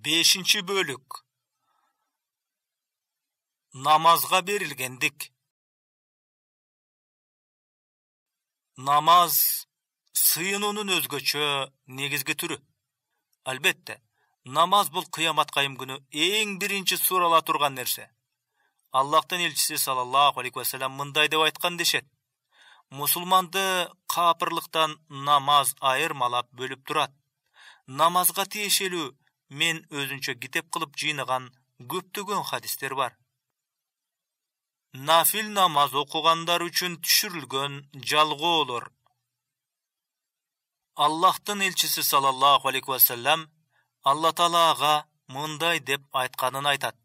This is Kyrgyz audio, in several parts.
5 бөлүк. Намазга берилгендик. Намаз сыйынуунун өзгөчө негизги түрү. Албетте, намаз бул кыямат кайым күнү эң биринчи сурала турган нерсе. Аллахтын элчиси саллаллаху алейхи ва саллям мындай деп айткан дешет: мусулманды капырлыктан намаз айырмалап бөлүп турат. Намазга тиешелүү мен өзүнчө китеп кылып жыйнаган көптөгөн хадистер бар. Нафил намаз окугандар үчүн түшүрүлгөн жалгоолор. Аллахтын элчиси саллаллаху алейхи ва саллям Алла Таалага мындай деп айтканын айтат: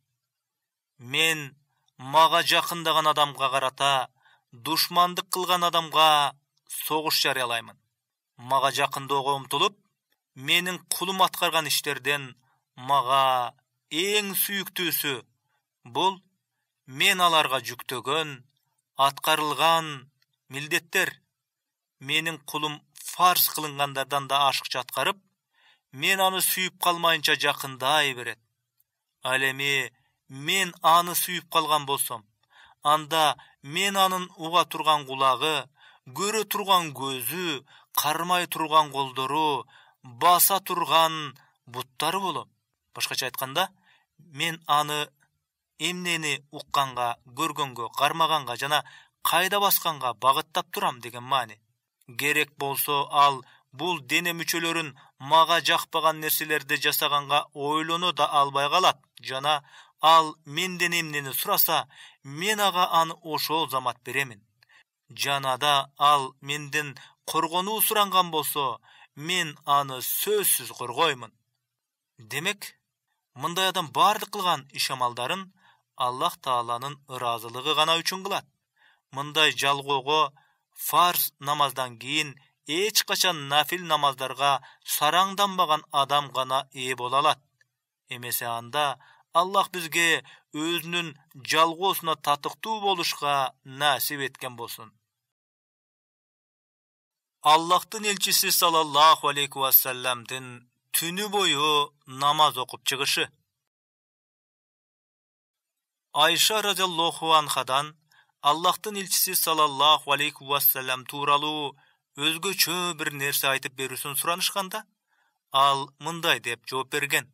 мен мага жакындаган адамга карата душмандык кылган адамга согуш жарыялаймын. Мага жакынdoого умтулуп, менин кулум аткарган иштерден мага эң сүйүктүүсү бул мен аларга жүктөгөн аткарылган милдеттер. Менин кулум фарз кылынгандардан да ашыкча аткарып, мен аны сүйүп калмайынча жакындай берет. Ал эми мен аны сүйүп калган болсом, анда мен анын уга турган кулагы, көрө турган көзү, кармай турган колдору, баса турган буттары болом. Башкача айтканда, мен аны эмнени укканга, көргөнгө, кармаганга жана кайда басканга багыттап турам деген маани. Керек болсо ал бул дене мүчөлөрүн мага жакпаган нерселерди жасаганга ойлоно да албай калат жана ал менден эмнени сураса, мен ага аны ошол замат беремин. Жанада ал менден коргонуу суранган болсо, мен аны сөзсүз коргоймун. Демек, мындай адам баардык кылган иш-амалдарын Аллах Тааланын ыраазылыгы гана үчүн кылат. Мындай жалгоого фарз намаздан кийин эч качан нафил намаздарга сараңданбаган адам гана ээ боло алат. Эмесе анда Аллах бизге өзүнүн жалгоосуна татыктуу болушка насип эткен болсун. Аллахтын элчиси саллаллаху алейхи ва саллямдын түнү бою намаз окуп чыгышы. Айша радиаллаху анхадан Аллахтын элчиси саллаллаху алейхи ва саллям тууралуу өзгөчө бир нерсе айтып берүүсүн суранышканда, ал мындай деп жооп берген: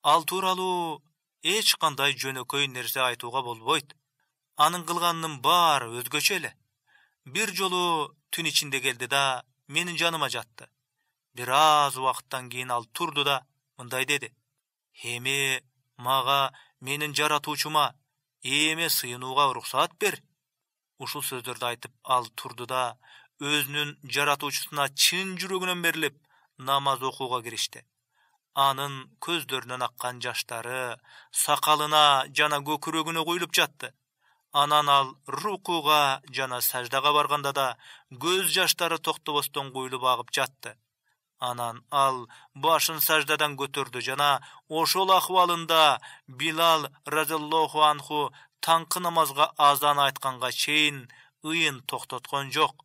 ал тууралуу эч кандай жөнөкөй нерсе айтууга болбойт. Анын кылганынын баары өзгөчө эле. Бир жолу түн ичинде келди да менин жаныма жатты. Бир аз убакыттан кийин ал турду да мындай деди: эми мага менин жаратуучума, ээме сыйынууга уруксаат бер. Ушул сөздөрдү айтып ал турду да өзүнүн жаратуучусуна чын жүрөгүнөн берилип намаз окууга киришти. Анын көздөрүнөн аккан жаштары сакалына жана көкүрөгүнө куюлуп жатты. Анан ал рукуга жана саждага барганда да көз жаштары токтобостон куюлуп агып жатты. Анан ал башын саждадан көтөрдү жана ошол акыбалында Билал радиаллаху анху таңкы намазга азан айтканга чейин ыйын токтоткон жок.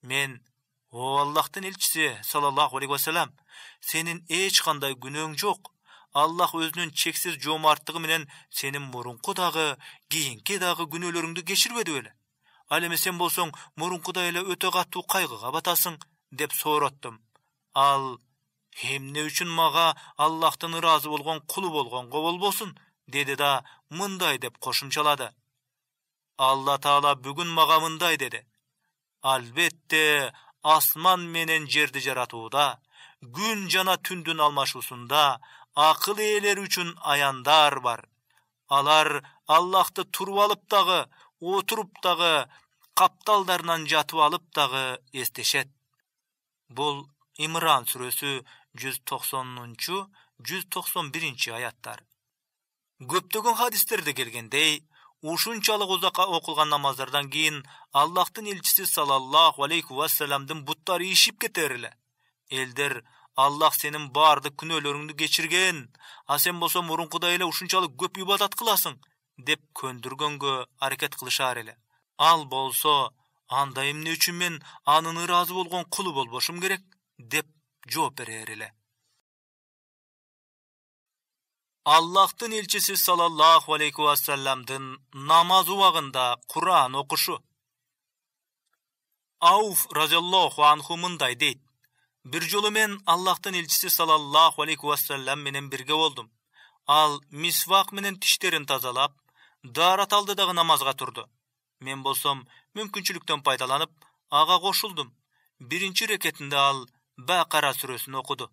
Мен: о Аллахтын элчиси саллаллаху алейхи ва саллям, сенин эч кандай күнөөң жок. Аллах өзүнүн чексиз жоомарттыгы менен сенин мурунку дагы, кийинки дагы күнөөлөрүңдү кечирбеди беле? Ал эми сен болсоң мурункудай эле өтө катуу кайгыга батасың, деп соороттум. Ал: эмне үчүн мага Аллахтын ыраазы болгон кулу болгонго болбосун, деди да мындай деп кошумчалады: Алла Таала бүгүн мага мындай деди: албетте асман менен жерди жаратууда, күн жана түндүн алмашуусунда акыл ээлери үчүн аяндар бар. Алар Аллахты туруп алып дагы, отуруп дагы, капталдарынан жатып алып дагы эстешет. Бул Имран сүрөсү 190-191 аяттар. Көптөгөн хадистерде келгендей, ушунчалык узакка окулган намаздардан кийин Аллахтын элчиси саллаллаху алейхи ва саллямдын буттары ишип кетер эле. Элдер: Аллах сенин баардык күнөөлөрүңдү кечирген, а сен болсо мурункудай эле ушунчалык көп ибадат кыласың, деп көндүргөнгө аракет кылышар эле. Ал болсо: анда эмне үчүн мен анын ыраазы болгон кулу болбошум керек, деп жооп берер эле. Аллахтын элчиси саллаллаху алейхи вассаламдын намаз убагында Кур'ан окушу. Ауф разияллаху анху мындай дейт: бир жолу мен Аллахтын элчиси саллаллаху алейхи вассалам менен бирге болдум. Ал мисвак менен тиштерин тазалап, даарат алды дагы намазга турду. Мен болсом мүмкүнчүлүктөн пайдаланып, ага кошулдум. Биринчи рекетинде ал Бакара сүрөсүн окуду.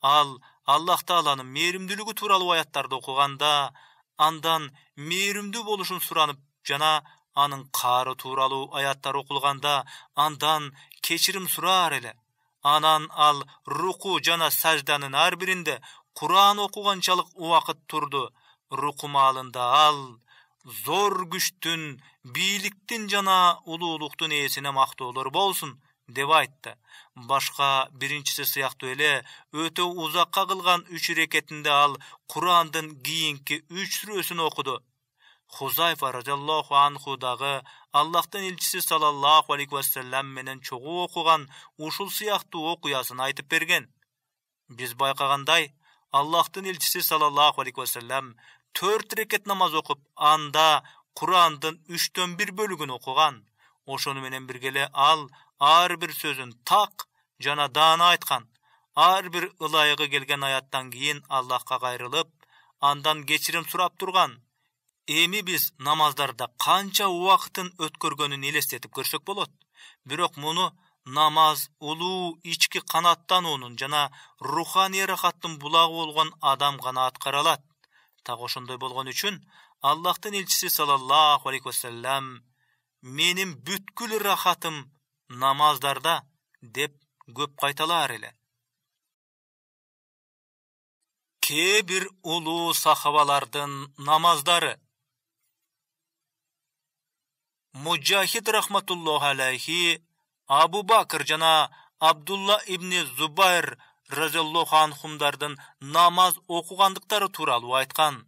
Ал Аллах Тааланын мээримдүүлүгү тууралуу аяттарды окуганда, андан мээримдүү болушун суранып жана анын каары тууралуу аяттар окулганда андан кечирим сураар эле. Анан ал руку жана сажданын ар биринде Кур'ан окуганчалык убакыт турду. Руку маалында ал зор күчтүн, бийликтин жана улуулуктун ээсине мактоолор болсун деп айтты. Башка биринчиси сыяктуу эле өтө узакка кылган 3 рекетинде ал Кур'андын кийинки 3 сүрөсүн окуду. Хузайфа разияллаху анху дагы Аллахтын элчиси саллаллаху алейхи вассалам менен чогуу окуган ушул сыяктуу окуясын айтып берген. Биз байкагандай, Аллахтын элчиси саллаллаху алейхи вассалам 4 рекет намаз окуп, анда Кур'андын 3/1 бөлүгүн окуган. Ошону менен бирге эле ал ар бир сөзүн так жана даана айткан. Ар бир ылайыгы келген аяттан кийин Аллахка кайрылып, андан кечирим сурап турган. Эми биз намаздарда канча убакытын өткөргөнүн элестетип көрсөк болот. Бирок муну намаз улуу ички канаттануунун жана руханий рахаттын булагы болгон адам гана аткара алат. Так ошондой болгон үчүн Аллахтын элчиси саллаллаху алейхи вассалам менин бүткүл рахатым намаздарда деп көп кайталаар эле. Кээ бир улуу сахабалардын намаздары. Муджахид рахматуллаху алейхи Абу Бакр жана Абдулла ибн Зубайр разияллаху анхумдардын намаз окугандыктары тууралуу айткан.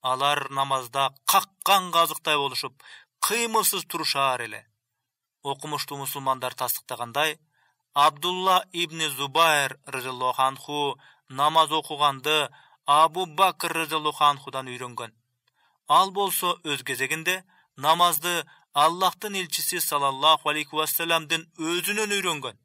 Алар намазда каккан казыктай болушуп, кыймылсыз турушаар эле. Окумуштуу мусулмандар тастыктагандай, Абдулла ибн Зубайр разияллаху анху намаз окуганды Абу Бакр разияллаху анхудан үйрөнгөн. Ал болсо өз кезегинде намазды Аллахтын элчиси саллаллаху алейхи вассаламдын өзүнөн үйрөнгөн.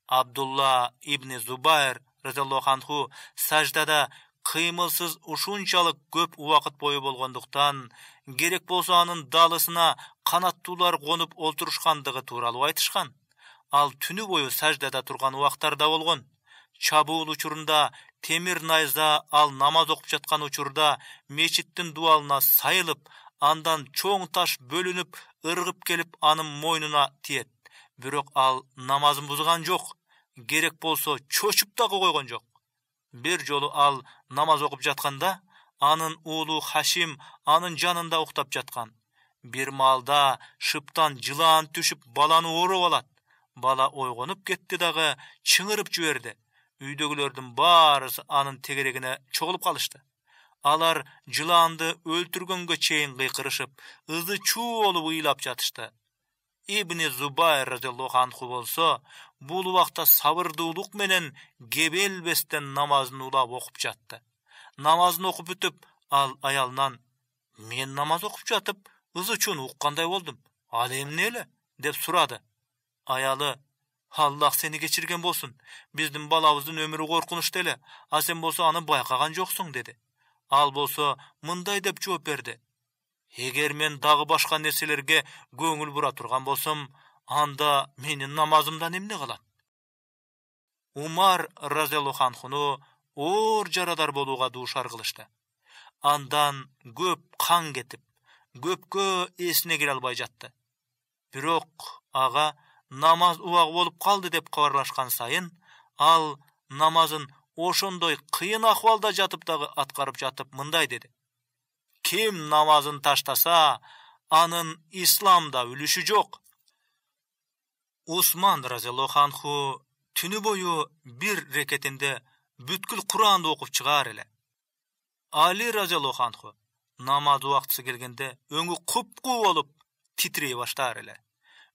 Абдулла ибн Зубайр разияллаху анху саждада кыймылсыз ушунчалык көп убакыт бою болгондуктан, керек болсо анын далысына канаттуулар конуп олтурушкандыгы тууралуу айтышкан. Ал түнү бою саждада турган убактарда болгон. Чабуул учурунда темир найза ал намаз окуп жаткан учурда мечиттин дуалына сайылып, андан чоң таш бөлүнүп, ыргып келип анын мойнуна тиет. Бирок ал намазын бузган жок. Керек болсо чочуп дагы койгон жок. Бир жолу ал намаз окуп жатканда, анын уулу Хашим анын жанында уктап жаткан. Бир маалда шыптан жылаан түшүп баланы ороп алат. Бала ойгонуп кетти дагы чыңырып жиберди. Үйдөгүлөрдүн баарысы анын тегерегине чогулуп калышты. Алар жылаанды өлтүргөнгө чейин кыйкырышып, ызы-чуу болуп ыйлап жатышты. Ибн Зубайр разияллаху анху болсо, бул убакта сабырдуулук менен кебелбестен намазын улап окуп жатты. Намазын окуп бүтүп, ал аялынан: "Мен намаз окуп жатып, ызы-чууну уккандай болдум. Ал эмне эле?" деп сурады. Аялы: "Аллах сени кечирген болсун. Биздин балабыздын өмүрү коркунучтуу эле, а сен болсо аны байкаган жоксуң" деди. Ал болсо мындай деп жооп берди: "Эгер мен дагы башка нерселерге көңүл бура турган болсом, анда менин намазымдан эмне калат?" Умар разияллаху анхуну оор жарадар болууга дуушар кылышты. Андан көп кан кетип, көпкө эсине келе албай жатты. Бирок ага намаз убагы болуп калды деп кабарлашкан сайын, ал намазын ошондой кыйын акыбалда жатып дагы аткарып жатып мындай деди: "Ким намазын таштаса, анын исламда үлүшү жок." Усман разияллаху анху түнү бою бир рекетинде бүткүл Кур'анды окуп чыгаар эле. Али разияллаху анху намаз убактысы келгенде өңү куп-куу болуп титрей баштаар эле.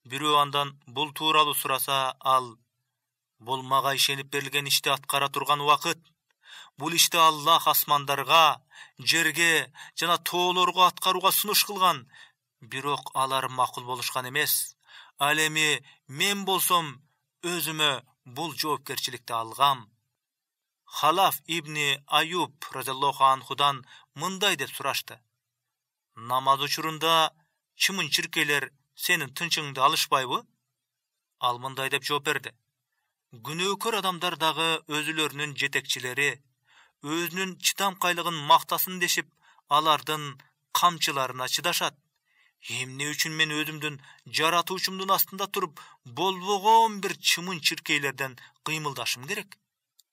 Бирөө андан бул тууралуу сураса, ал: "Бул мага ишенип берилген ишти аткара турган убакыт. Бул ишти Аллах асмандарга, жерге жана тоолорго аткарууга сунуш кылган. Бирок алар макул болушкан эмес. Ал эми мен болсом өзүмө бул жоопкерчиликти алгам. Халаф ибни Аюб разияллаху анхудан мындай деп сурашты: намаз учурунда чымын-чиркейлер сенин тынчыңды алышпайбы? Ал мындай деп жооп берди: күнөөкөр адамдар дагы өзүлөрүнүн жетекчилери өзүнүн чыдамкайлыгын мактасын дешип, алардын камчыларына чыдашат. Эмне үчүн мен өзүмдүн жаратуучумдун астында туруп, болбогон бир чымын-чиркейлерден кыймылдашым керек?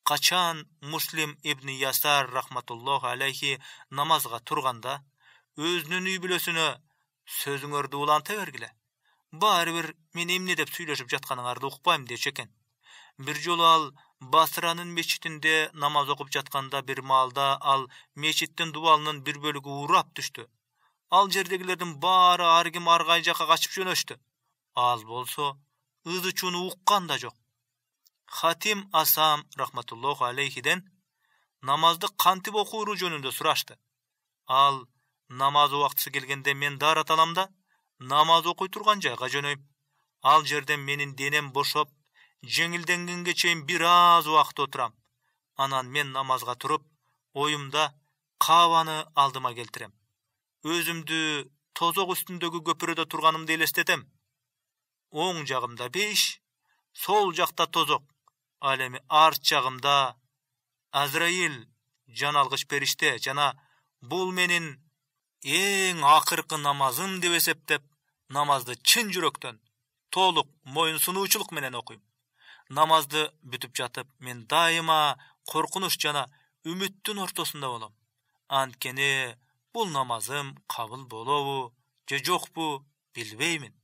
Качан Муслим ибн Ясар рахматуллаху алейхи намазга турганда, өзүнүн үй бүлөсүнө: сөзүңөрдү уланта бергиле. Баары бир мен эмне деп сүйлөшүп жатканыңарды укпайм дечү экен. Бир жолу ал Басранын мечитинде намаз окуп жатканда, бир маалда ал мечиттин дубалынын бир бөлүгү урап түштү. Ал жердегилердин баары ар ким ар кай жака качып жөнөштү. Ал болсо ызы-чууну уккан да жок. Хатим Асам рахматуллаху алейхиден намазды кантип окууру жөнүндө сурашты. Ал: намаз убактысы келгенде мен даарат алам да намаз окуй турган жайга жөнөйм. Ал жерден менин денем бошоп, жеңилденгенге чейин бир аз убакыт отурам. Анан мен намазга туруп, оюмда Каабаны алдыма келтирем. Өзүмдү тозок үстүндөгү көпүрөдө турганымды элестетем. Оң жагымда 5, сол жакта тозок. Ал эми арт жагымда Азраил, жаналгыч периште, жана бул менин эң акыркы намазым деп эсептеп, намазды чын жүрөктөн, толук моюн сунуучулук менен окуйм. Намазды бүтүп жатып, мен дайыма коркунуч жана үмүттүн ортосунда болом. Анткени бул намазым кабыл болобу же жокпу билбеймин.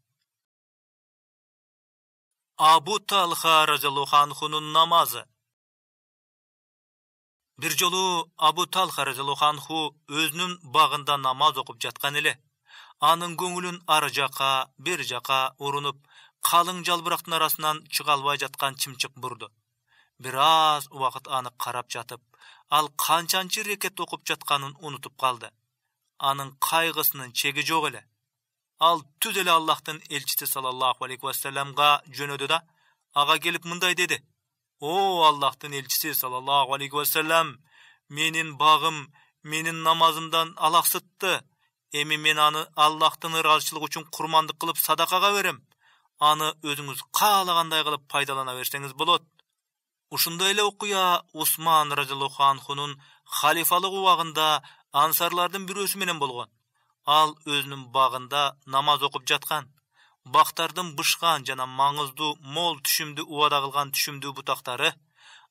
Абу Талха разияллаху анхунун намазы. Бир жолу Абу Талха разияллаху анху өзүнүн багында намаз окуп жаткан эле. Анын көңүлүн ары жака, бер жака урунуп, калың жалбырактын арасынан чыга албай жаткан чымчык бурду. Бир аз убакыт аны карап жатып, ал канчанчы рекет окуп жатканын унутуп калды. Анын кайгысынын чеги жок эле. Ал түз эле Аллахтын элчиси саллаллаху алейхи вассаламга жөнөдү да, ага келип мындай деди: о Аллахтын элчиси саллаллаху алейхи вассалам, менин багым менин намазымдан алаксытты. Эми мен аны Аллахтын ыраазычылыгы үчүн курмандык кылып садакага берем. Аны өзүңүз каалагандай кылып пайдалана берсеңиз болот. Ушундай эле окуя Усман разияллаху анхунун халифалык убагында ансарлардын бирөөсү менен болгон. Ал өзүнүн багында намаз окуп жаткан. Бактардын бышкан жана маңыздуу мол түшүмдү убада кылган түшүмдүү бутактары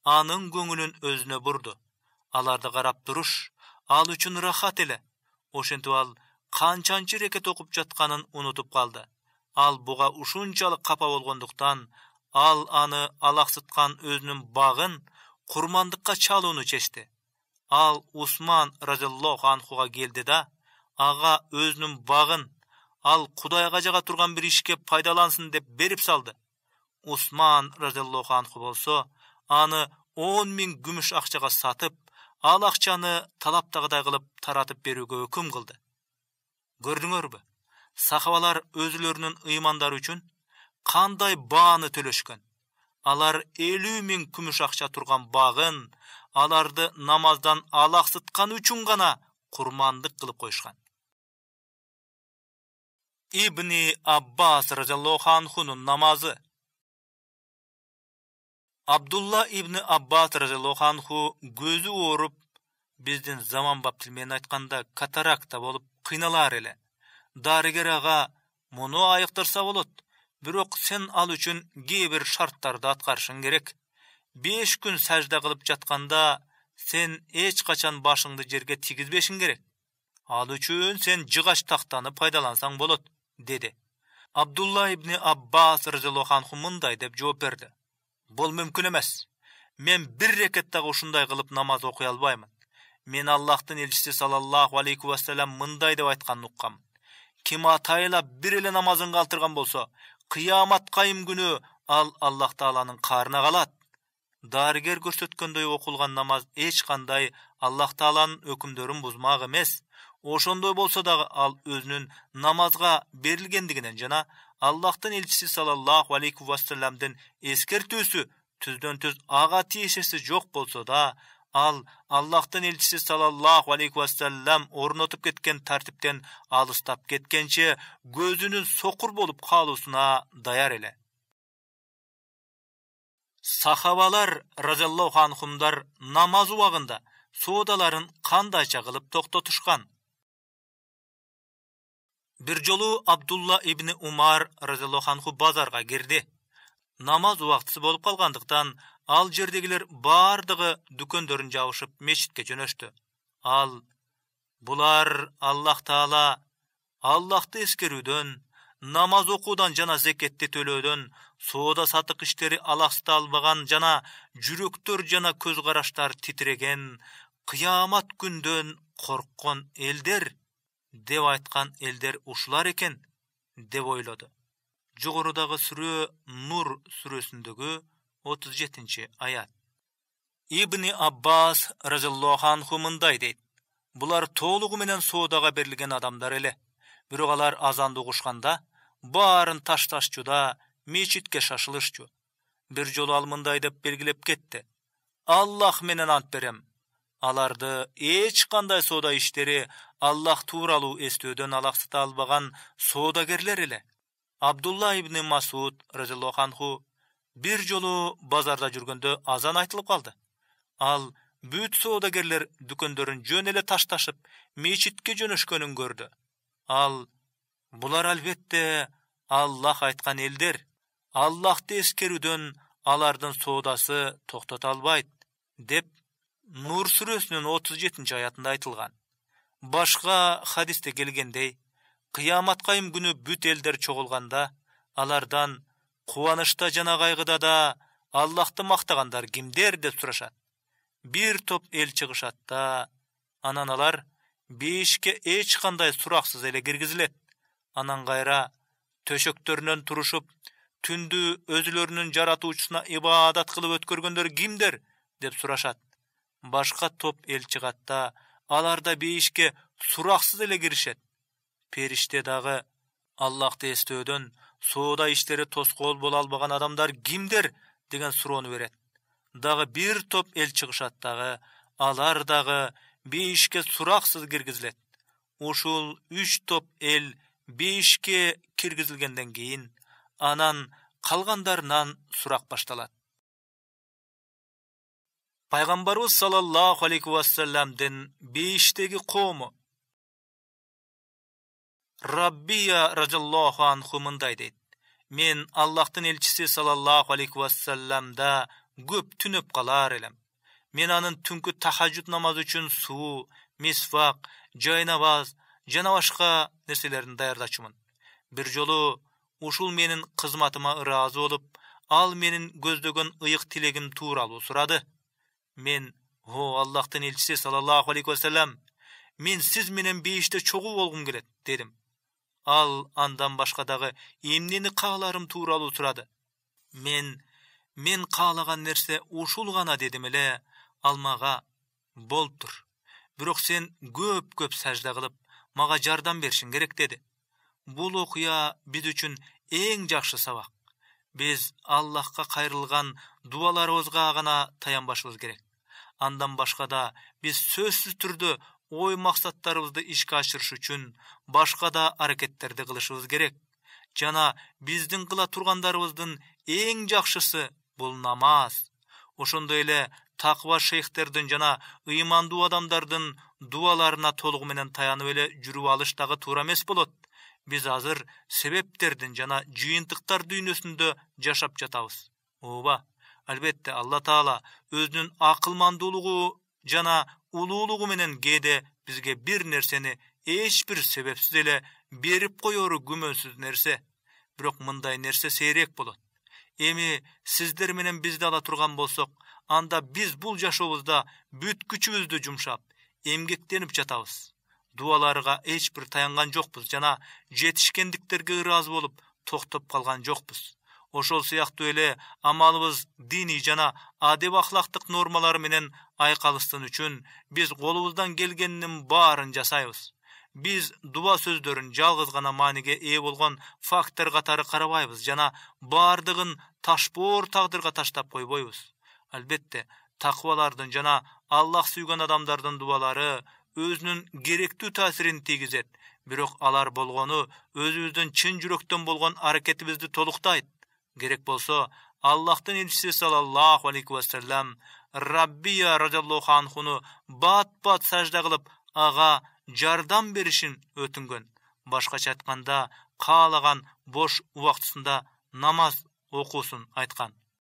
анын көңүлүн өзүнө бурду. Аларды карап туруш ал үчүн рахат эле. Ошентип ал канчанчы рекет окуп жатканын унутуп калды. Ал буга ушунчалык капа болгондуктан, ал аны алаксыткан өзүнүн багын курмандыкка чалууну чечти. Ал Усман разияллаху анхуга келди да, ага өзүнүн багын ал Кудайга жага турган бир ишке пайдалансын деп берип салды. Усман разияллаху анху болсо аны 10.000 күмүш акчага сатып, ал акчаны талаптагыдай кылып таратып берүүгө өкүм кылды. Көрдүңөрбү? Сахабалар өзүлөрүнүн ыймандары үчүн кандай бааны төлөшкөн. Алар 50.000 күмүш акча турган багын аларды намаздан алаксыткан үчүн гана курмандык кылып коюшкан. Ибни Аббас разияллаху анхунун намазы. Абдулла ибн Аббас разияллаху анху көзү ооруп, биздин заманбап тил менен айтканда катаракта болуп кыйналар эле. Дарыгер ага: муну айыктырса болот, бирок сен ал үчүн кээ бир шарттарды аткарышың керек. 5 күн сажда кылып жатканда сен эч качан башыңды жерге тигизбешиң керек. Ал үчүн сен жыгач тактаны пайдалансаң болот, деди. Абдулла ибн Аббас разияллаху анху мындай деп жооп берди: бул мүмкүн эмес. Мен бир рекеттагы ушундай кылып намаз окуй албаймын. Мен Аллахтын элчиси саллаллаху алейхи вассалам мындай деп айтканын уккам: ким атайылап бир эле намазын калтырган болсо, кыямат кайым күнү ал Аллах тааланын каарына калат. дарыгер көрсөткөндөй окулган намаз эч кандай Аллах Тааланын өкүмдөрүн бузмак эмес. Ошондой болсо дагы ал өзүнүн намазга берилгендигинен жана Аллахтын элчиси саллаллаху алейхи вассаламдын эскертүүсү түздөн-түз ага тиешеси жок болсо да, ал Аллахтын элчиси саллаллаху алейхи вассалам орнотуп кеткен тартиптен алыстап кеткенче көзүнүн сокур болуп калуусуна даяр эле. Сахабалар разияллаху анхумдар намаз убагында соодаларын кандайча кылып токтотушкан? Бир жолу Абдулла ибн Умар разияллаху анху базарга кирди. Намаз убактысы болуп калгандыктан ал жердегилер бардыгы дүкөндөрүн жабышып мечитке жөнөштү. Ал: "Булар Аллах Таала Аллахты эскерүүдөн, намаз окуудан жана зекетти төлөөдөн, соода сатык иштери алаксыта албаган жана жүрөктөр жана көз караштар титиреген, кыямат күндөн корккон элдер" деп айткан элдер ушулар экен деп ойлоду. Жогорудагы сүрө Нур сүрөсүндөгү 37-аят. Ибн Аббас разияллаху анху мындай дейт: "Булар толугу менен соодага берилген адамдар эле. Бирок алар азанды угушканда баарын ташташчу да мечитке шашылышчу." Бир жолу ал мындай деп белгилеп кетти: "Аллах менен ант берем, аларды эч кандай соода иштери Аллах тууралуу эстөөдөн алаксыта албаган соодагерлер эле." Абдулла ибн Масуд разияллаху анху бир жолу базарда жүргөндө азан айтылып калды. Ал бүт соодагерлер дүкөндөрүн жөн эле ташташып мечитке жөнөшкөнүн көрдү. Ал: "Булар албетте Аллах айткан элдер. Аллахты эскерүүдөн алардын соодасы токтото албайт" деп Нур сүрөсүнүн 37-аятында айтылган. Башка хадисте келгендей, кыяматкайым күнү бүт элдер чогулганда, алардан кубанычта жана кайгыда да Аллахты мактагандар кимдер деп сурашат. Бир топ эл чыгышат да, анан алар бейишке эч кандай сураксыз эле киргизилет. Анан кайра төшөктөрүнөн турушуп, түндү өзүлөрүнүн жаратуучусуна ибадат кылып өткөргөндөр кимдер деп сурашат. Башка топ эл чыгат да, алар да бейишке сураксыз эле киришет. Периште дагы Аллахты эстөөдөн соода иштери тоскоол боло албаган адамдар кимдер деген суроону берет. Дагы бир топ эл чыгышат дагы, алар дагы бейишке сураксыз киргизилет. Ушул 3 топ эл бейишке киргизилгенден кийин, анан калгандарынан сурак башталат. Пайгамбарыбыз саллаллаху алейхи вассаламдын бейиштеги коому. Раббия разияллаху анху мындай дейт: "Мен Аллахтын элчиси саллаллаху алейхи вассаламда көп түнөп калар элем. Мен анын түнкү тахажжуд намазы үчүн суу, мисвак, жайнабаз жана башка нерселерин даярдачумун. Бир жолу ушул менин кызматыма ыраазы болуп, ал менин көздөгөн ыйык тилегим тууралуу сурады. Мен: "О Аллахтын элчиси саллаллаху алейхи вассалам, мен сиз менен бейиште чогуу болгум келет" дедим. Ал андан башка дагы эмнени кааларым тууралуу сурады. Мен каалаган нерсе ушул гана дедим эле. Ал мага: "Болуптур. Бирок сен көп сажда кылып, мага жардам беришиң керек" деди. Бул окуя биз үчүн эң жакшы сабак. Биз Аллахка кайрылган дуаларыбызга гана таянбашыбыз керек. Андан башка да биз сөзсүз түрдө ой максаттарыбызды ишке ашырыш үчүн башка да аракеттерди кылышыбыз керек. Жана биздин кыла тургандарыбыздын эң жакшысы бул намаз. Ошондой эле таква шейхтердин жана ыймандуу адамдардын дуаларына толугу менен таянып эле жүрүп алыш дагы туура эмес болот. Биз азыр себептердин жана жыйынтыктар дүйнөсүндө жашап жатабыз. Ооба, албетте Алла Таала өзүнүн акылмандуулугу жана улуулугу менен кээде бизге бир нерсени эч бир себепсиз эле берип коеру күмөнсүз нерсе. Бирок мындай нерсе сейрек болот. Эми сиздер менен бизди ала турган болсок, анда биз бул жашообузда бүт күчүбүздү жумшап, эмгектенип жатабыз. Дуаларга эч бир таянган жокпуз жана жетишкендиктерге ыраазы болуп токтоп калган жокпуз. ошол сыяктуу эле амалыбыз диний жана адеп ахлактык нормалар менен айкалыштын үчүн биз колубуздан келгенинин баарын жасайбыз. Биз дуба сөздөрүн жалгыз гана мааниге ээ болгон фактор катары карабайбыз жана баардыгын ташпоор тагдырга таштап койбойбуз. Албетте, таквалардын жана Аллах сүйгөн адамдардын дубалары өзүнүн керектүү таасирин тийгизет, бирок алар болгону өзүбүздүн чын жүрөктөн болгон аракетибизди толуктайт. Керек болсо, Аллахтын элчиси саллаллаху алейхи ва саллям Раббия радиаллаху анхуну бат-бат сажда кылып, ага жардам беришин өтүнгөн. Башкача айтканда, каалаган бош убактысында намаз окуусун айткан.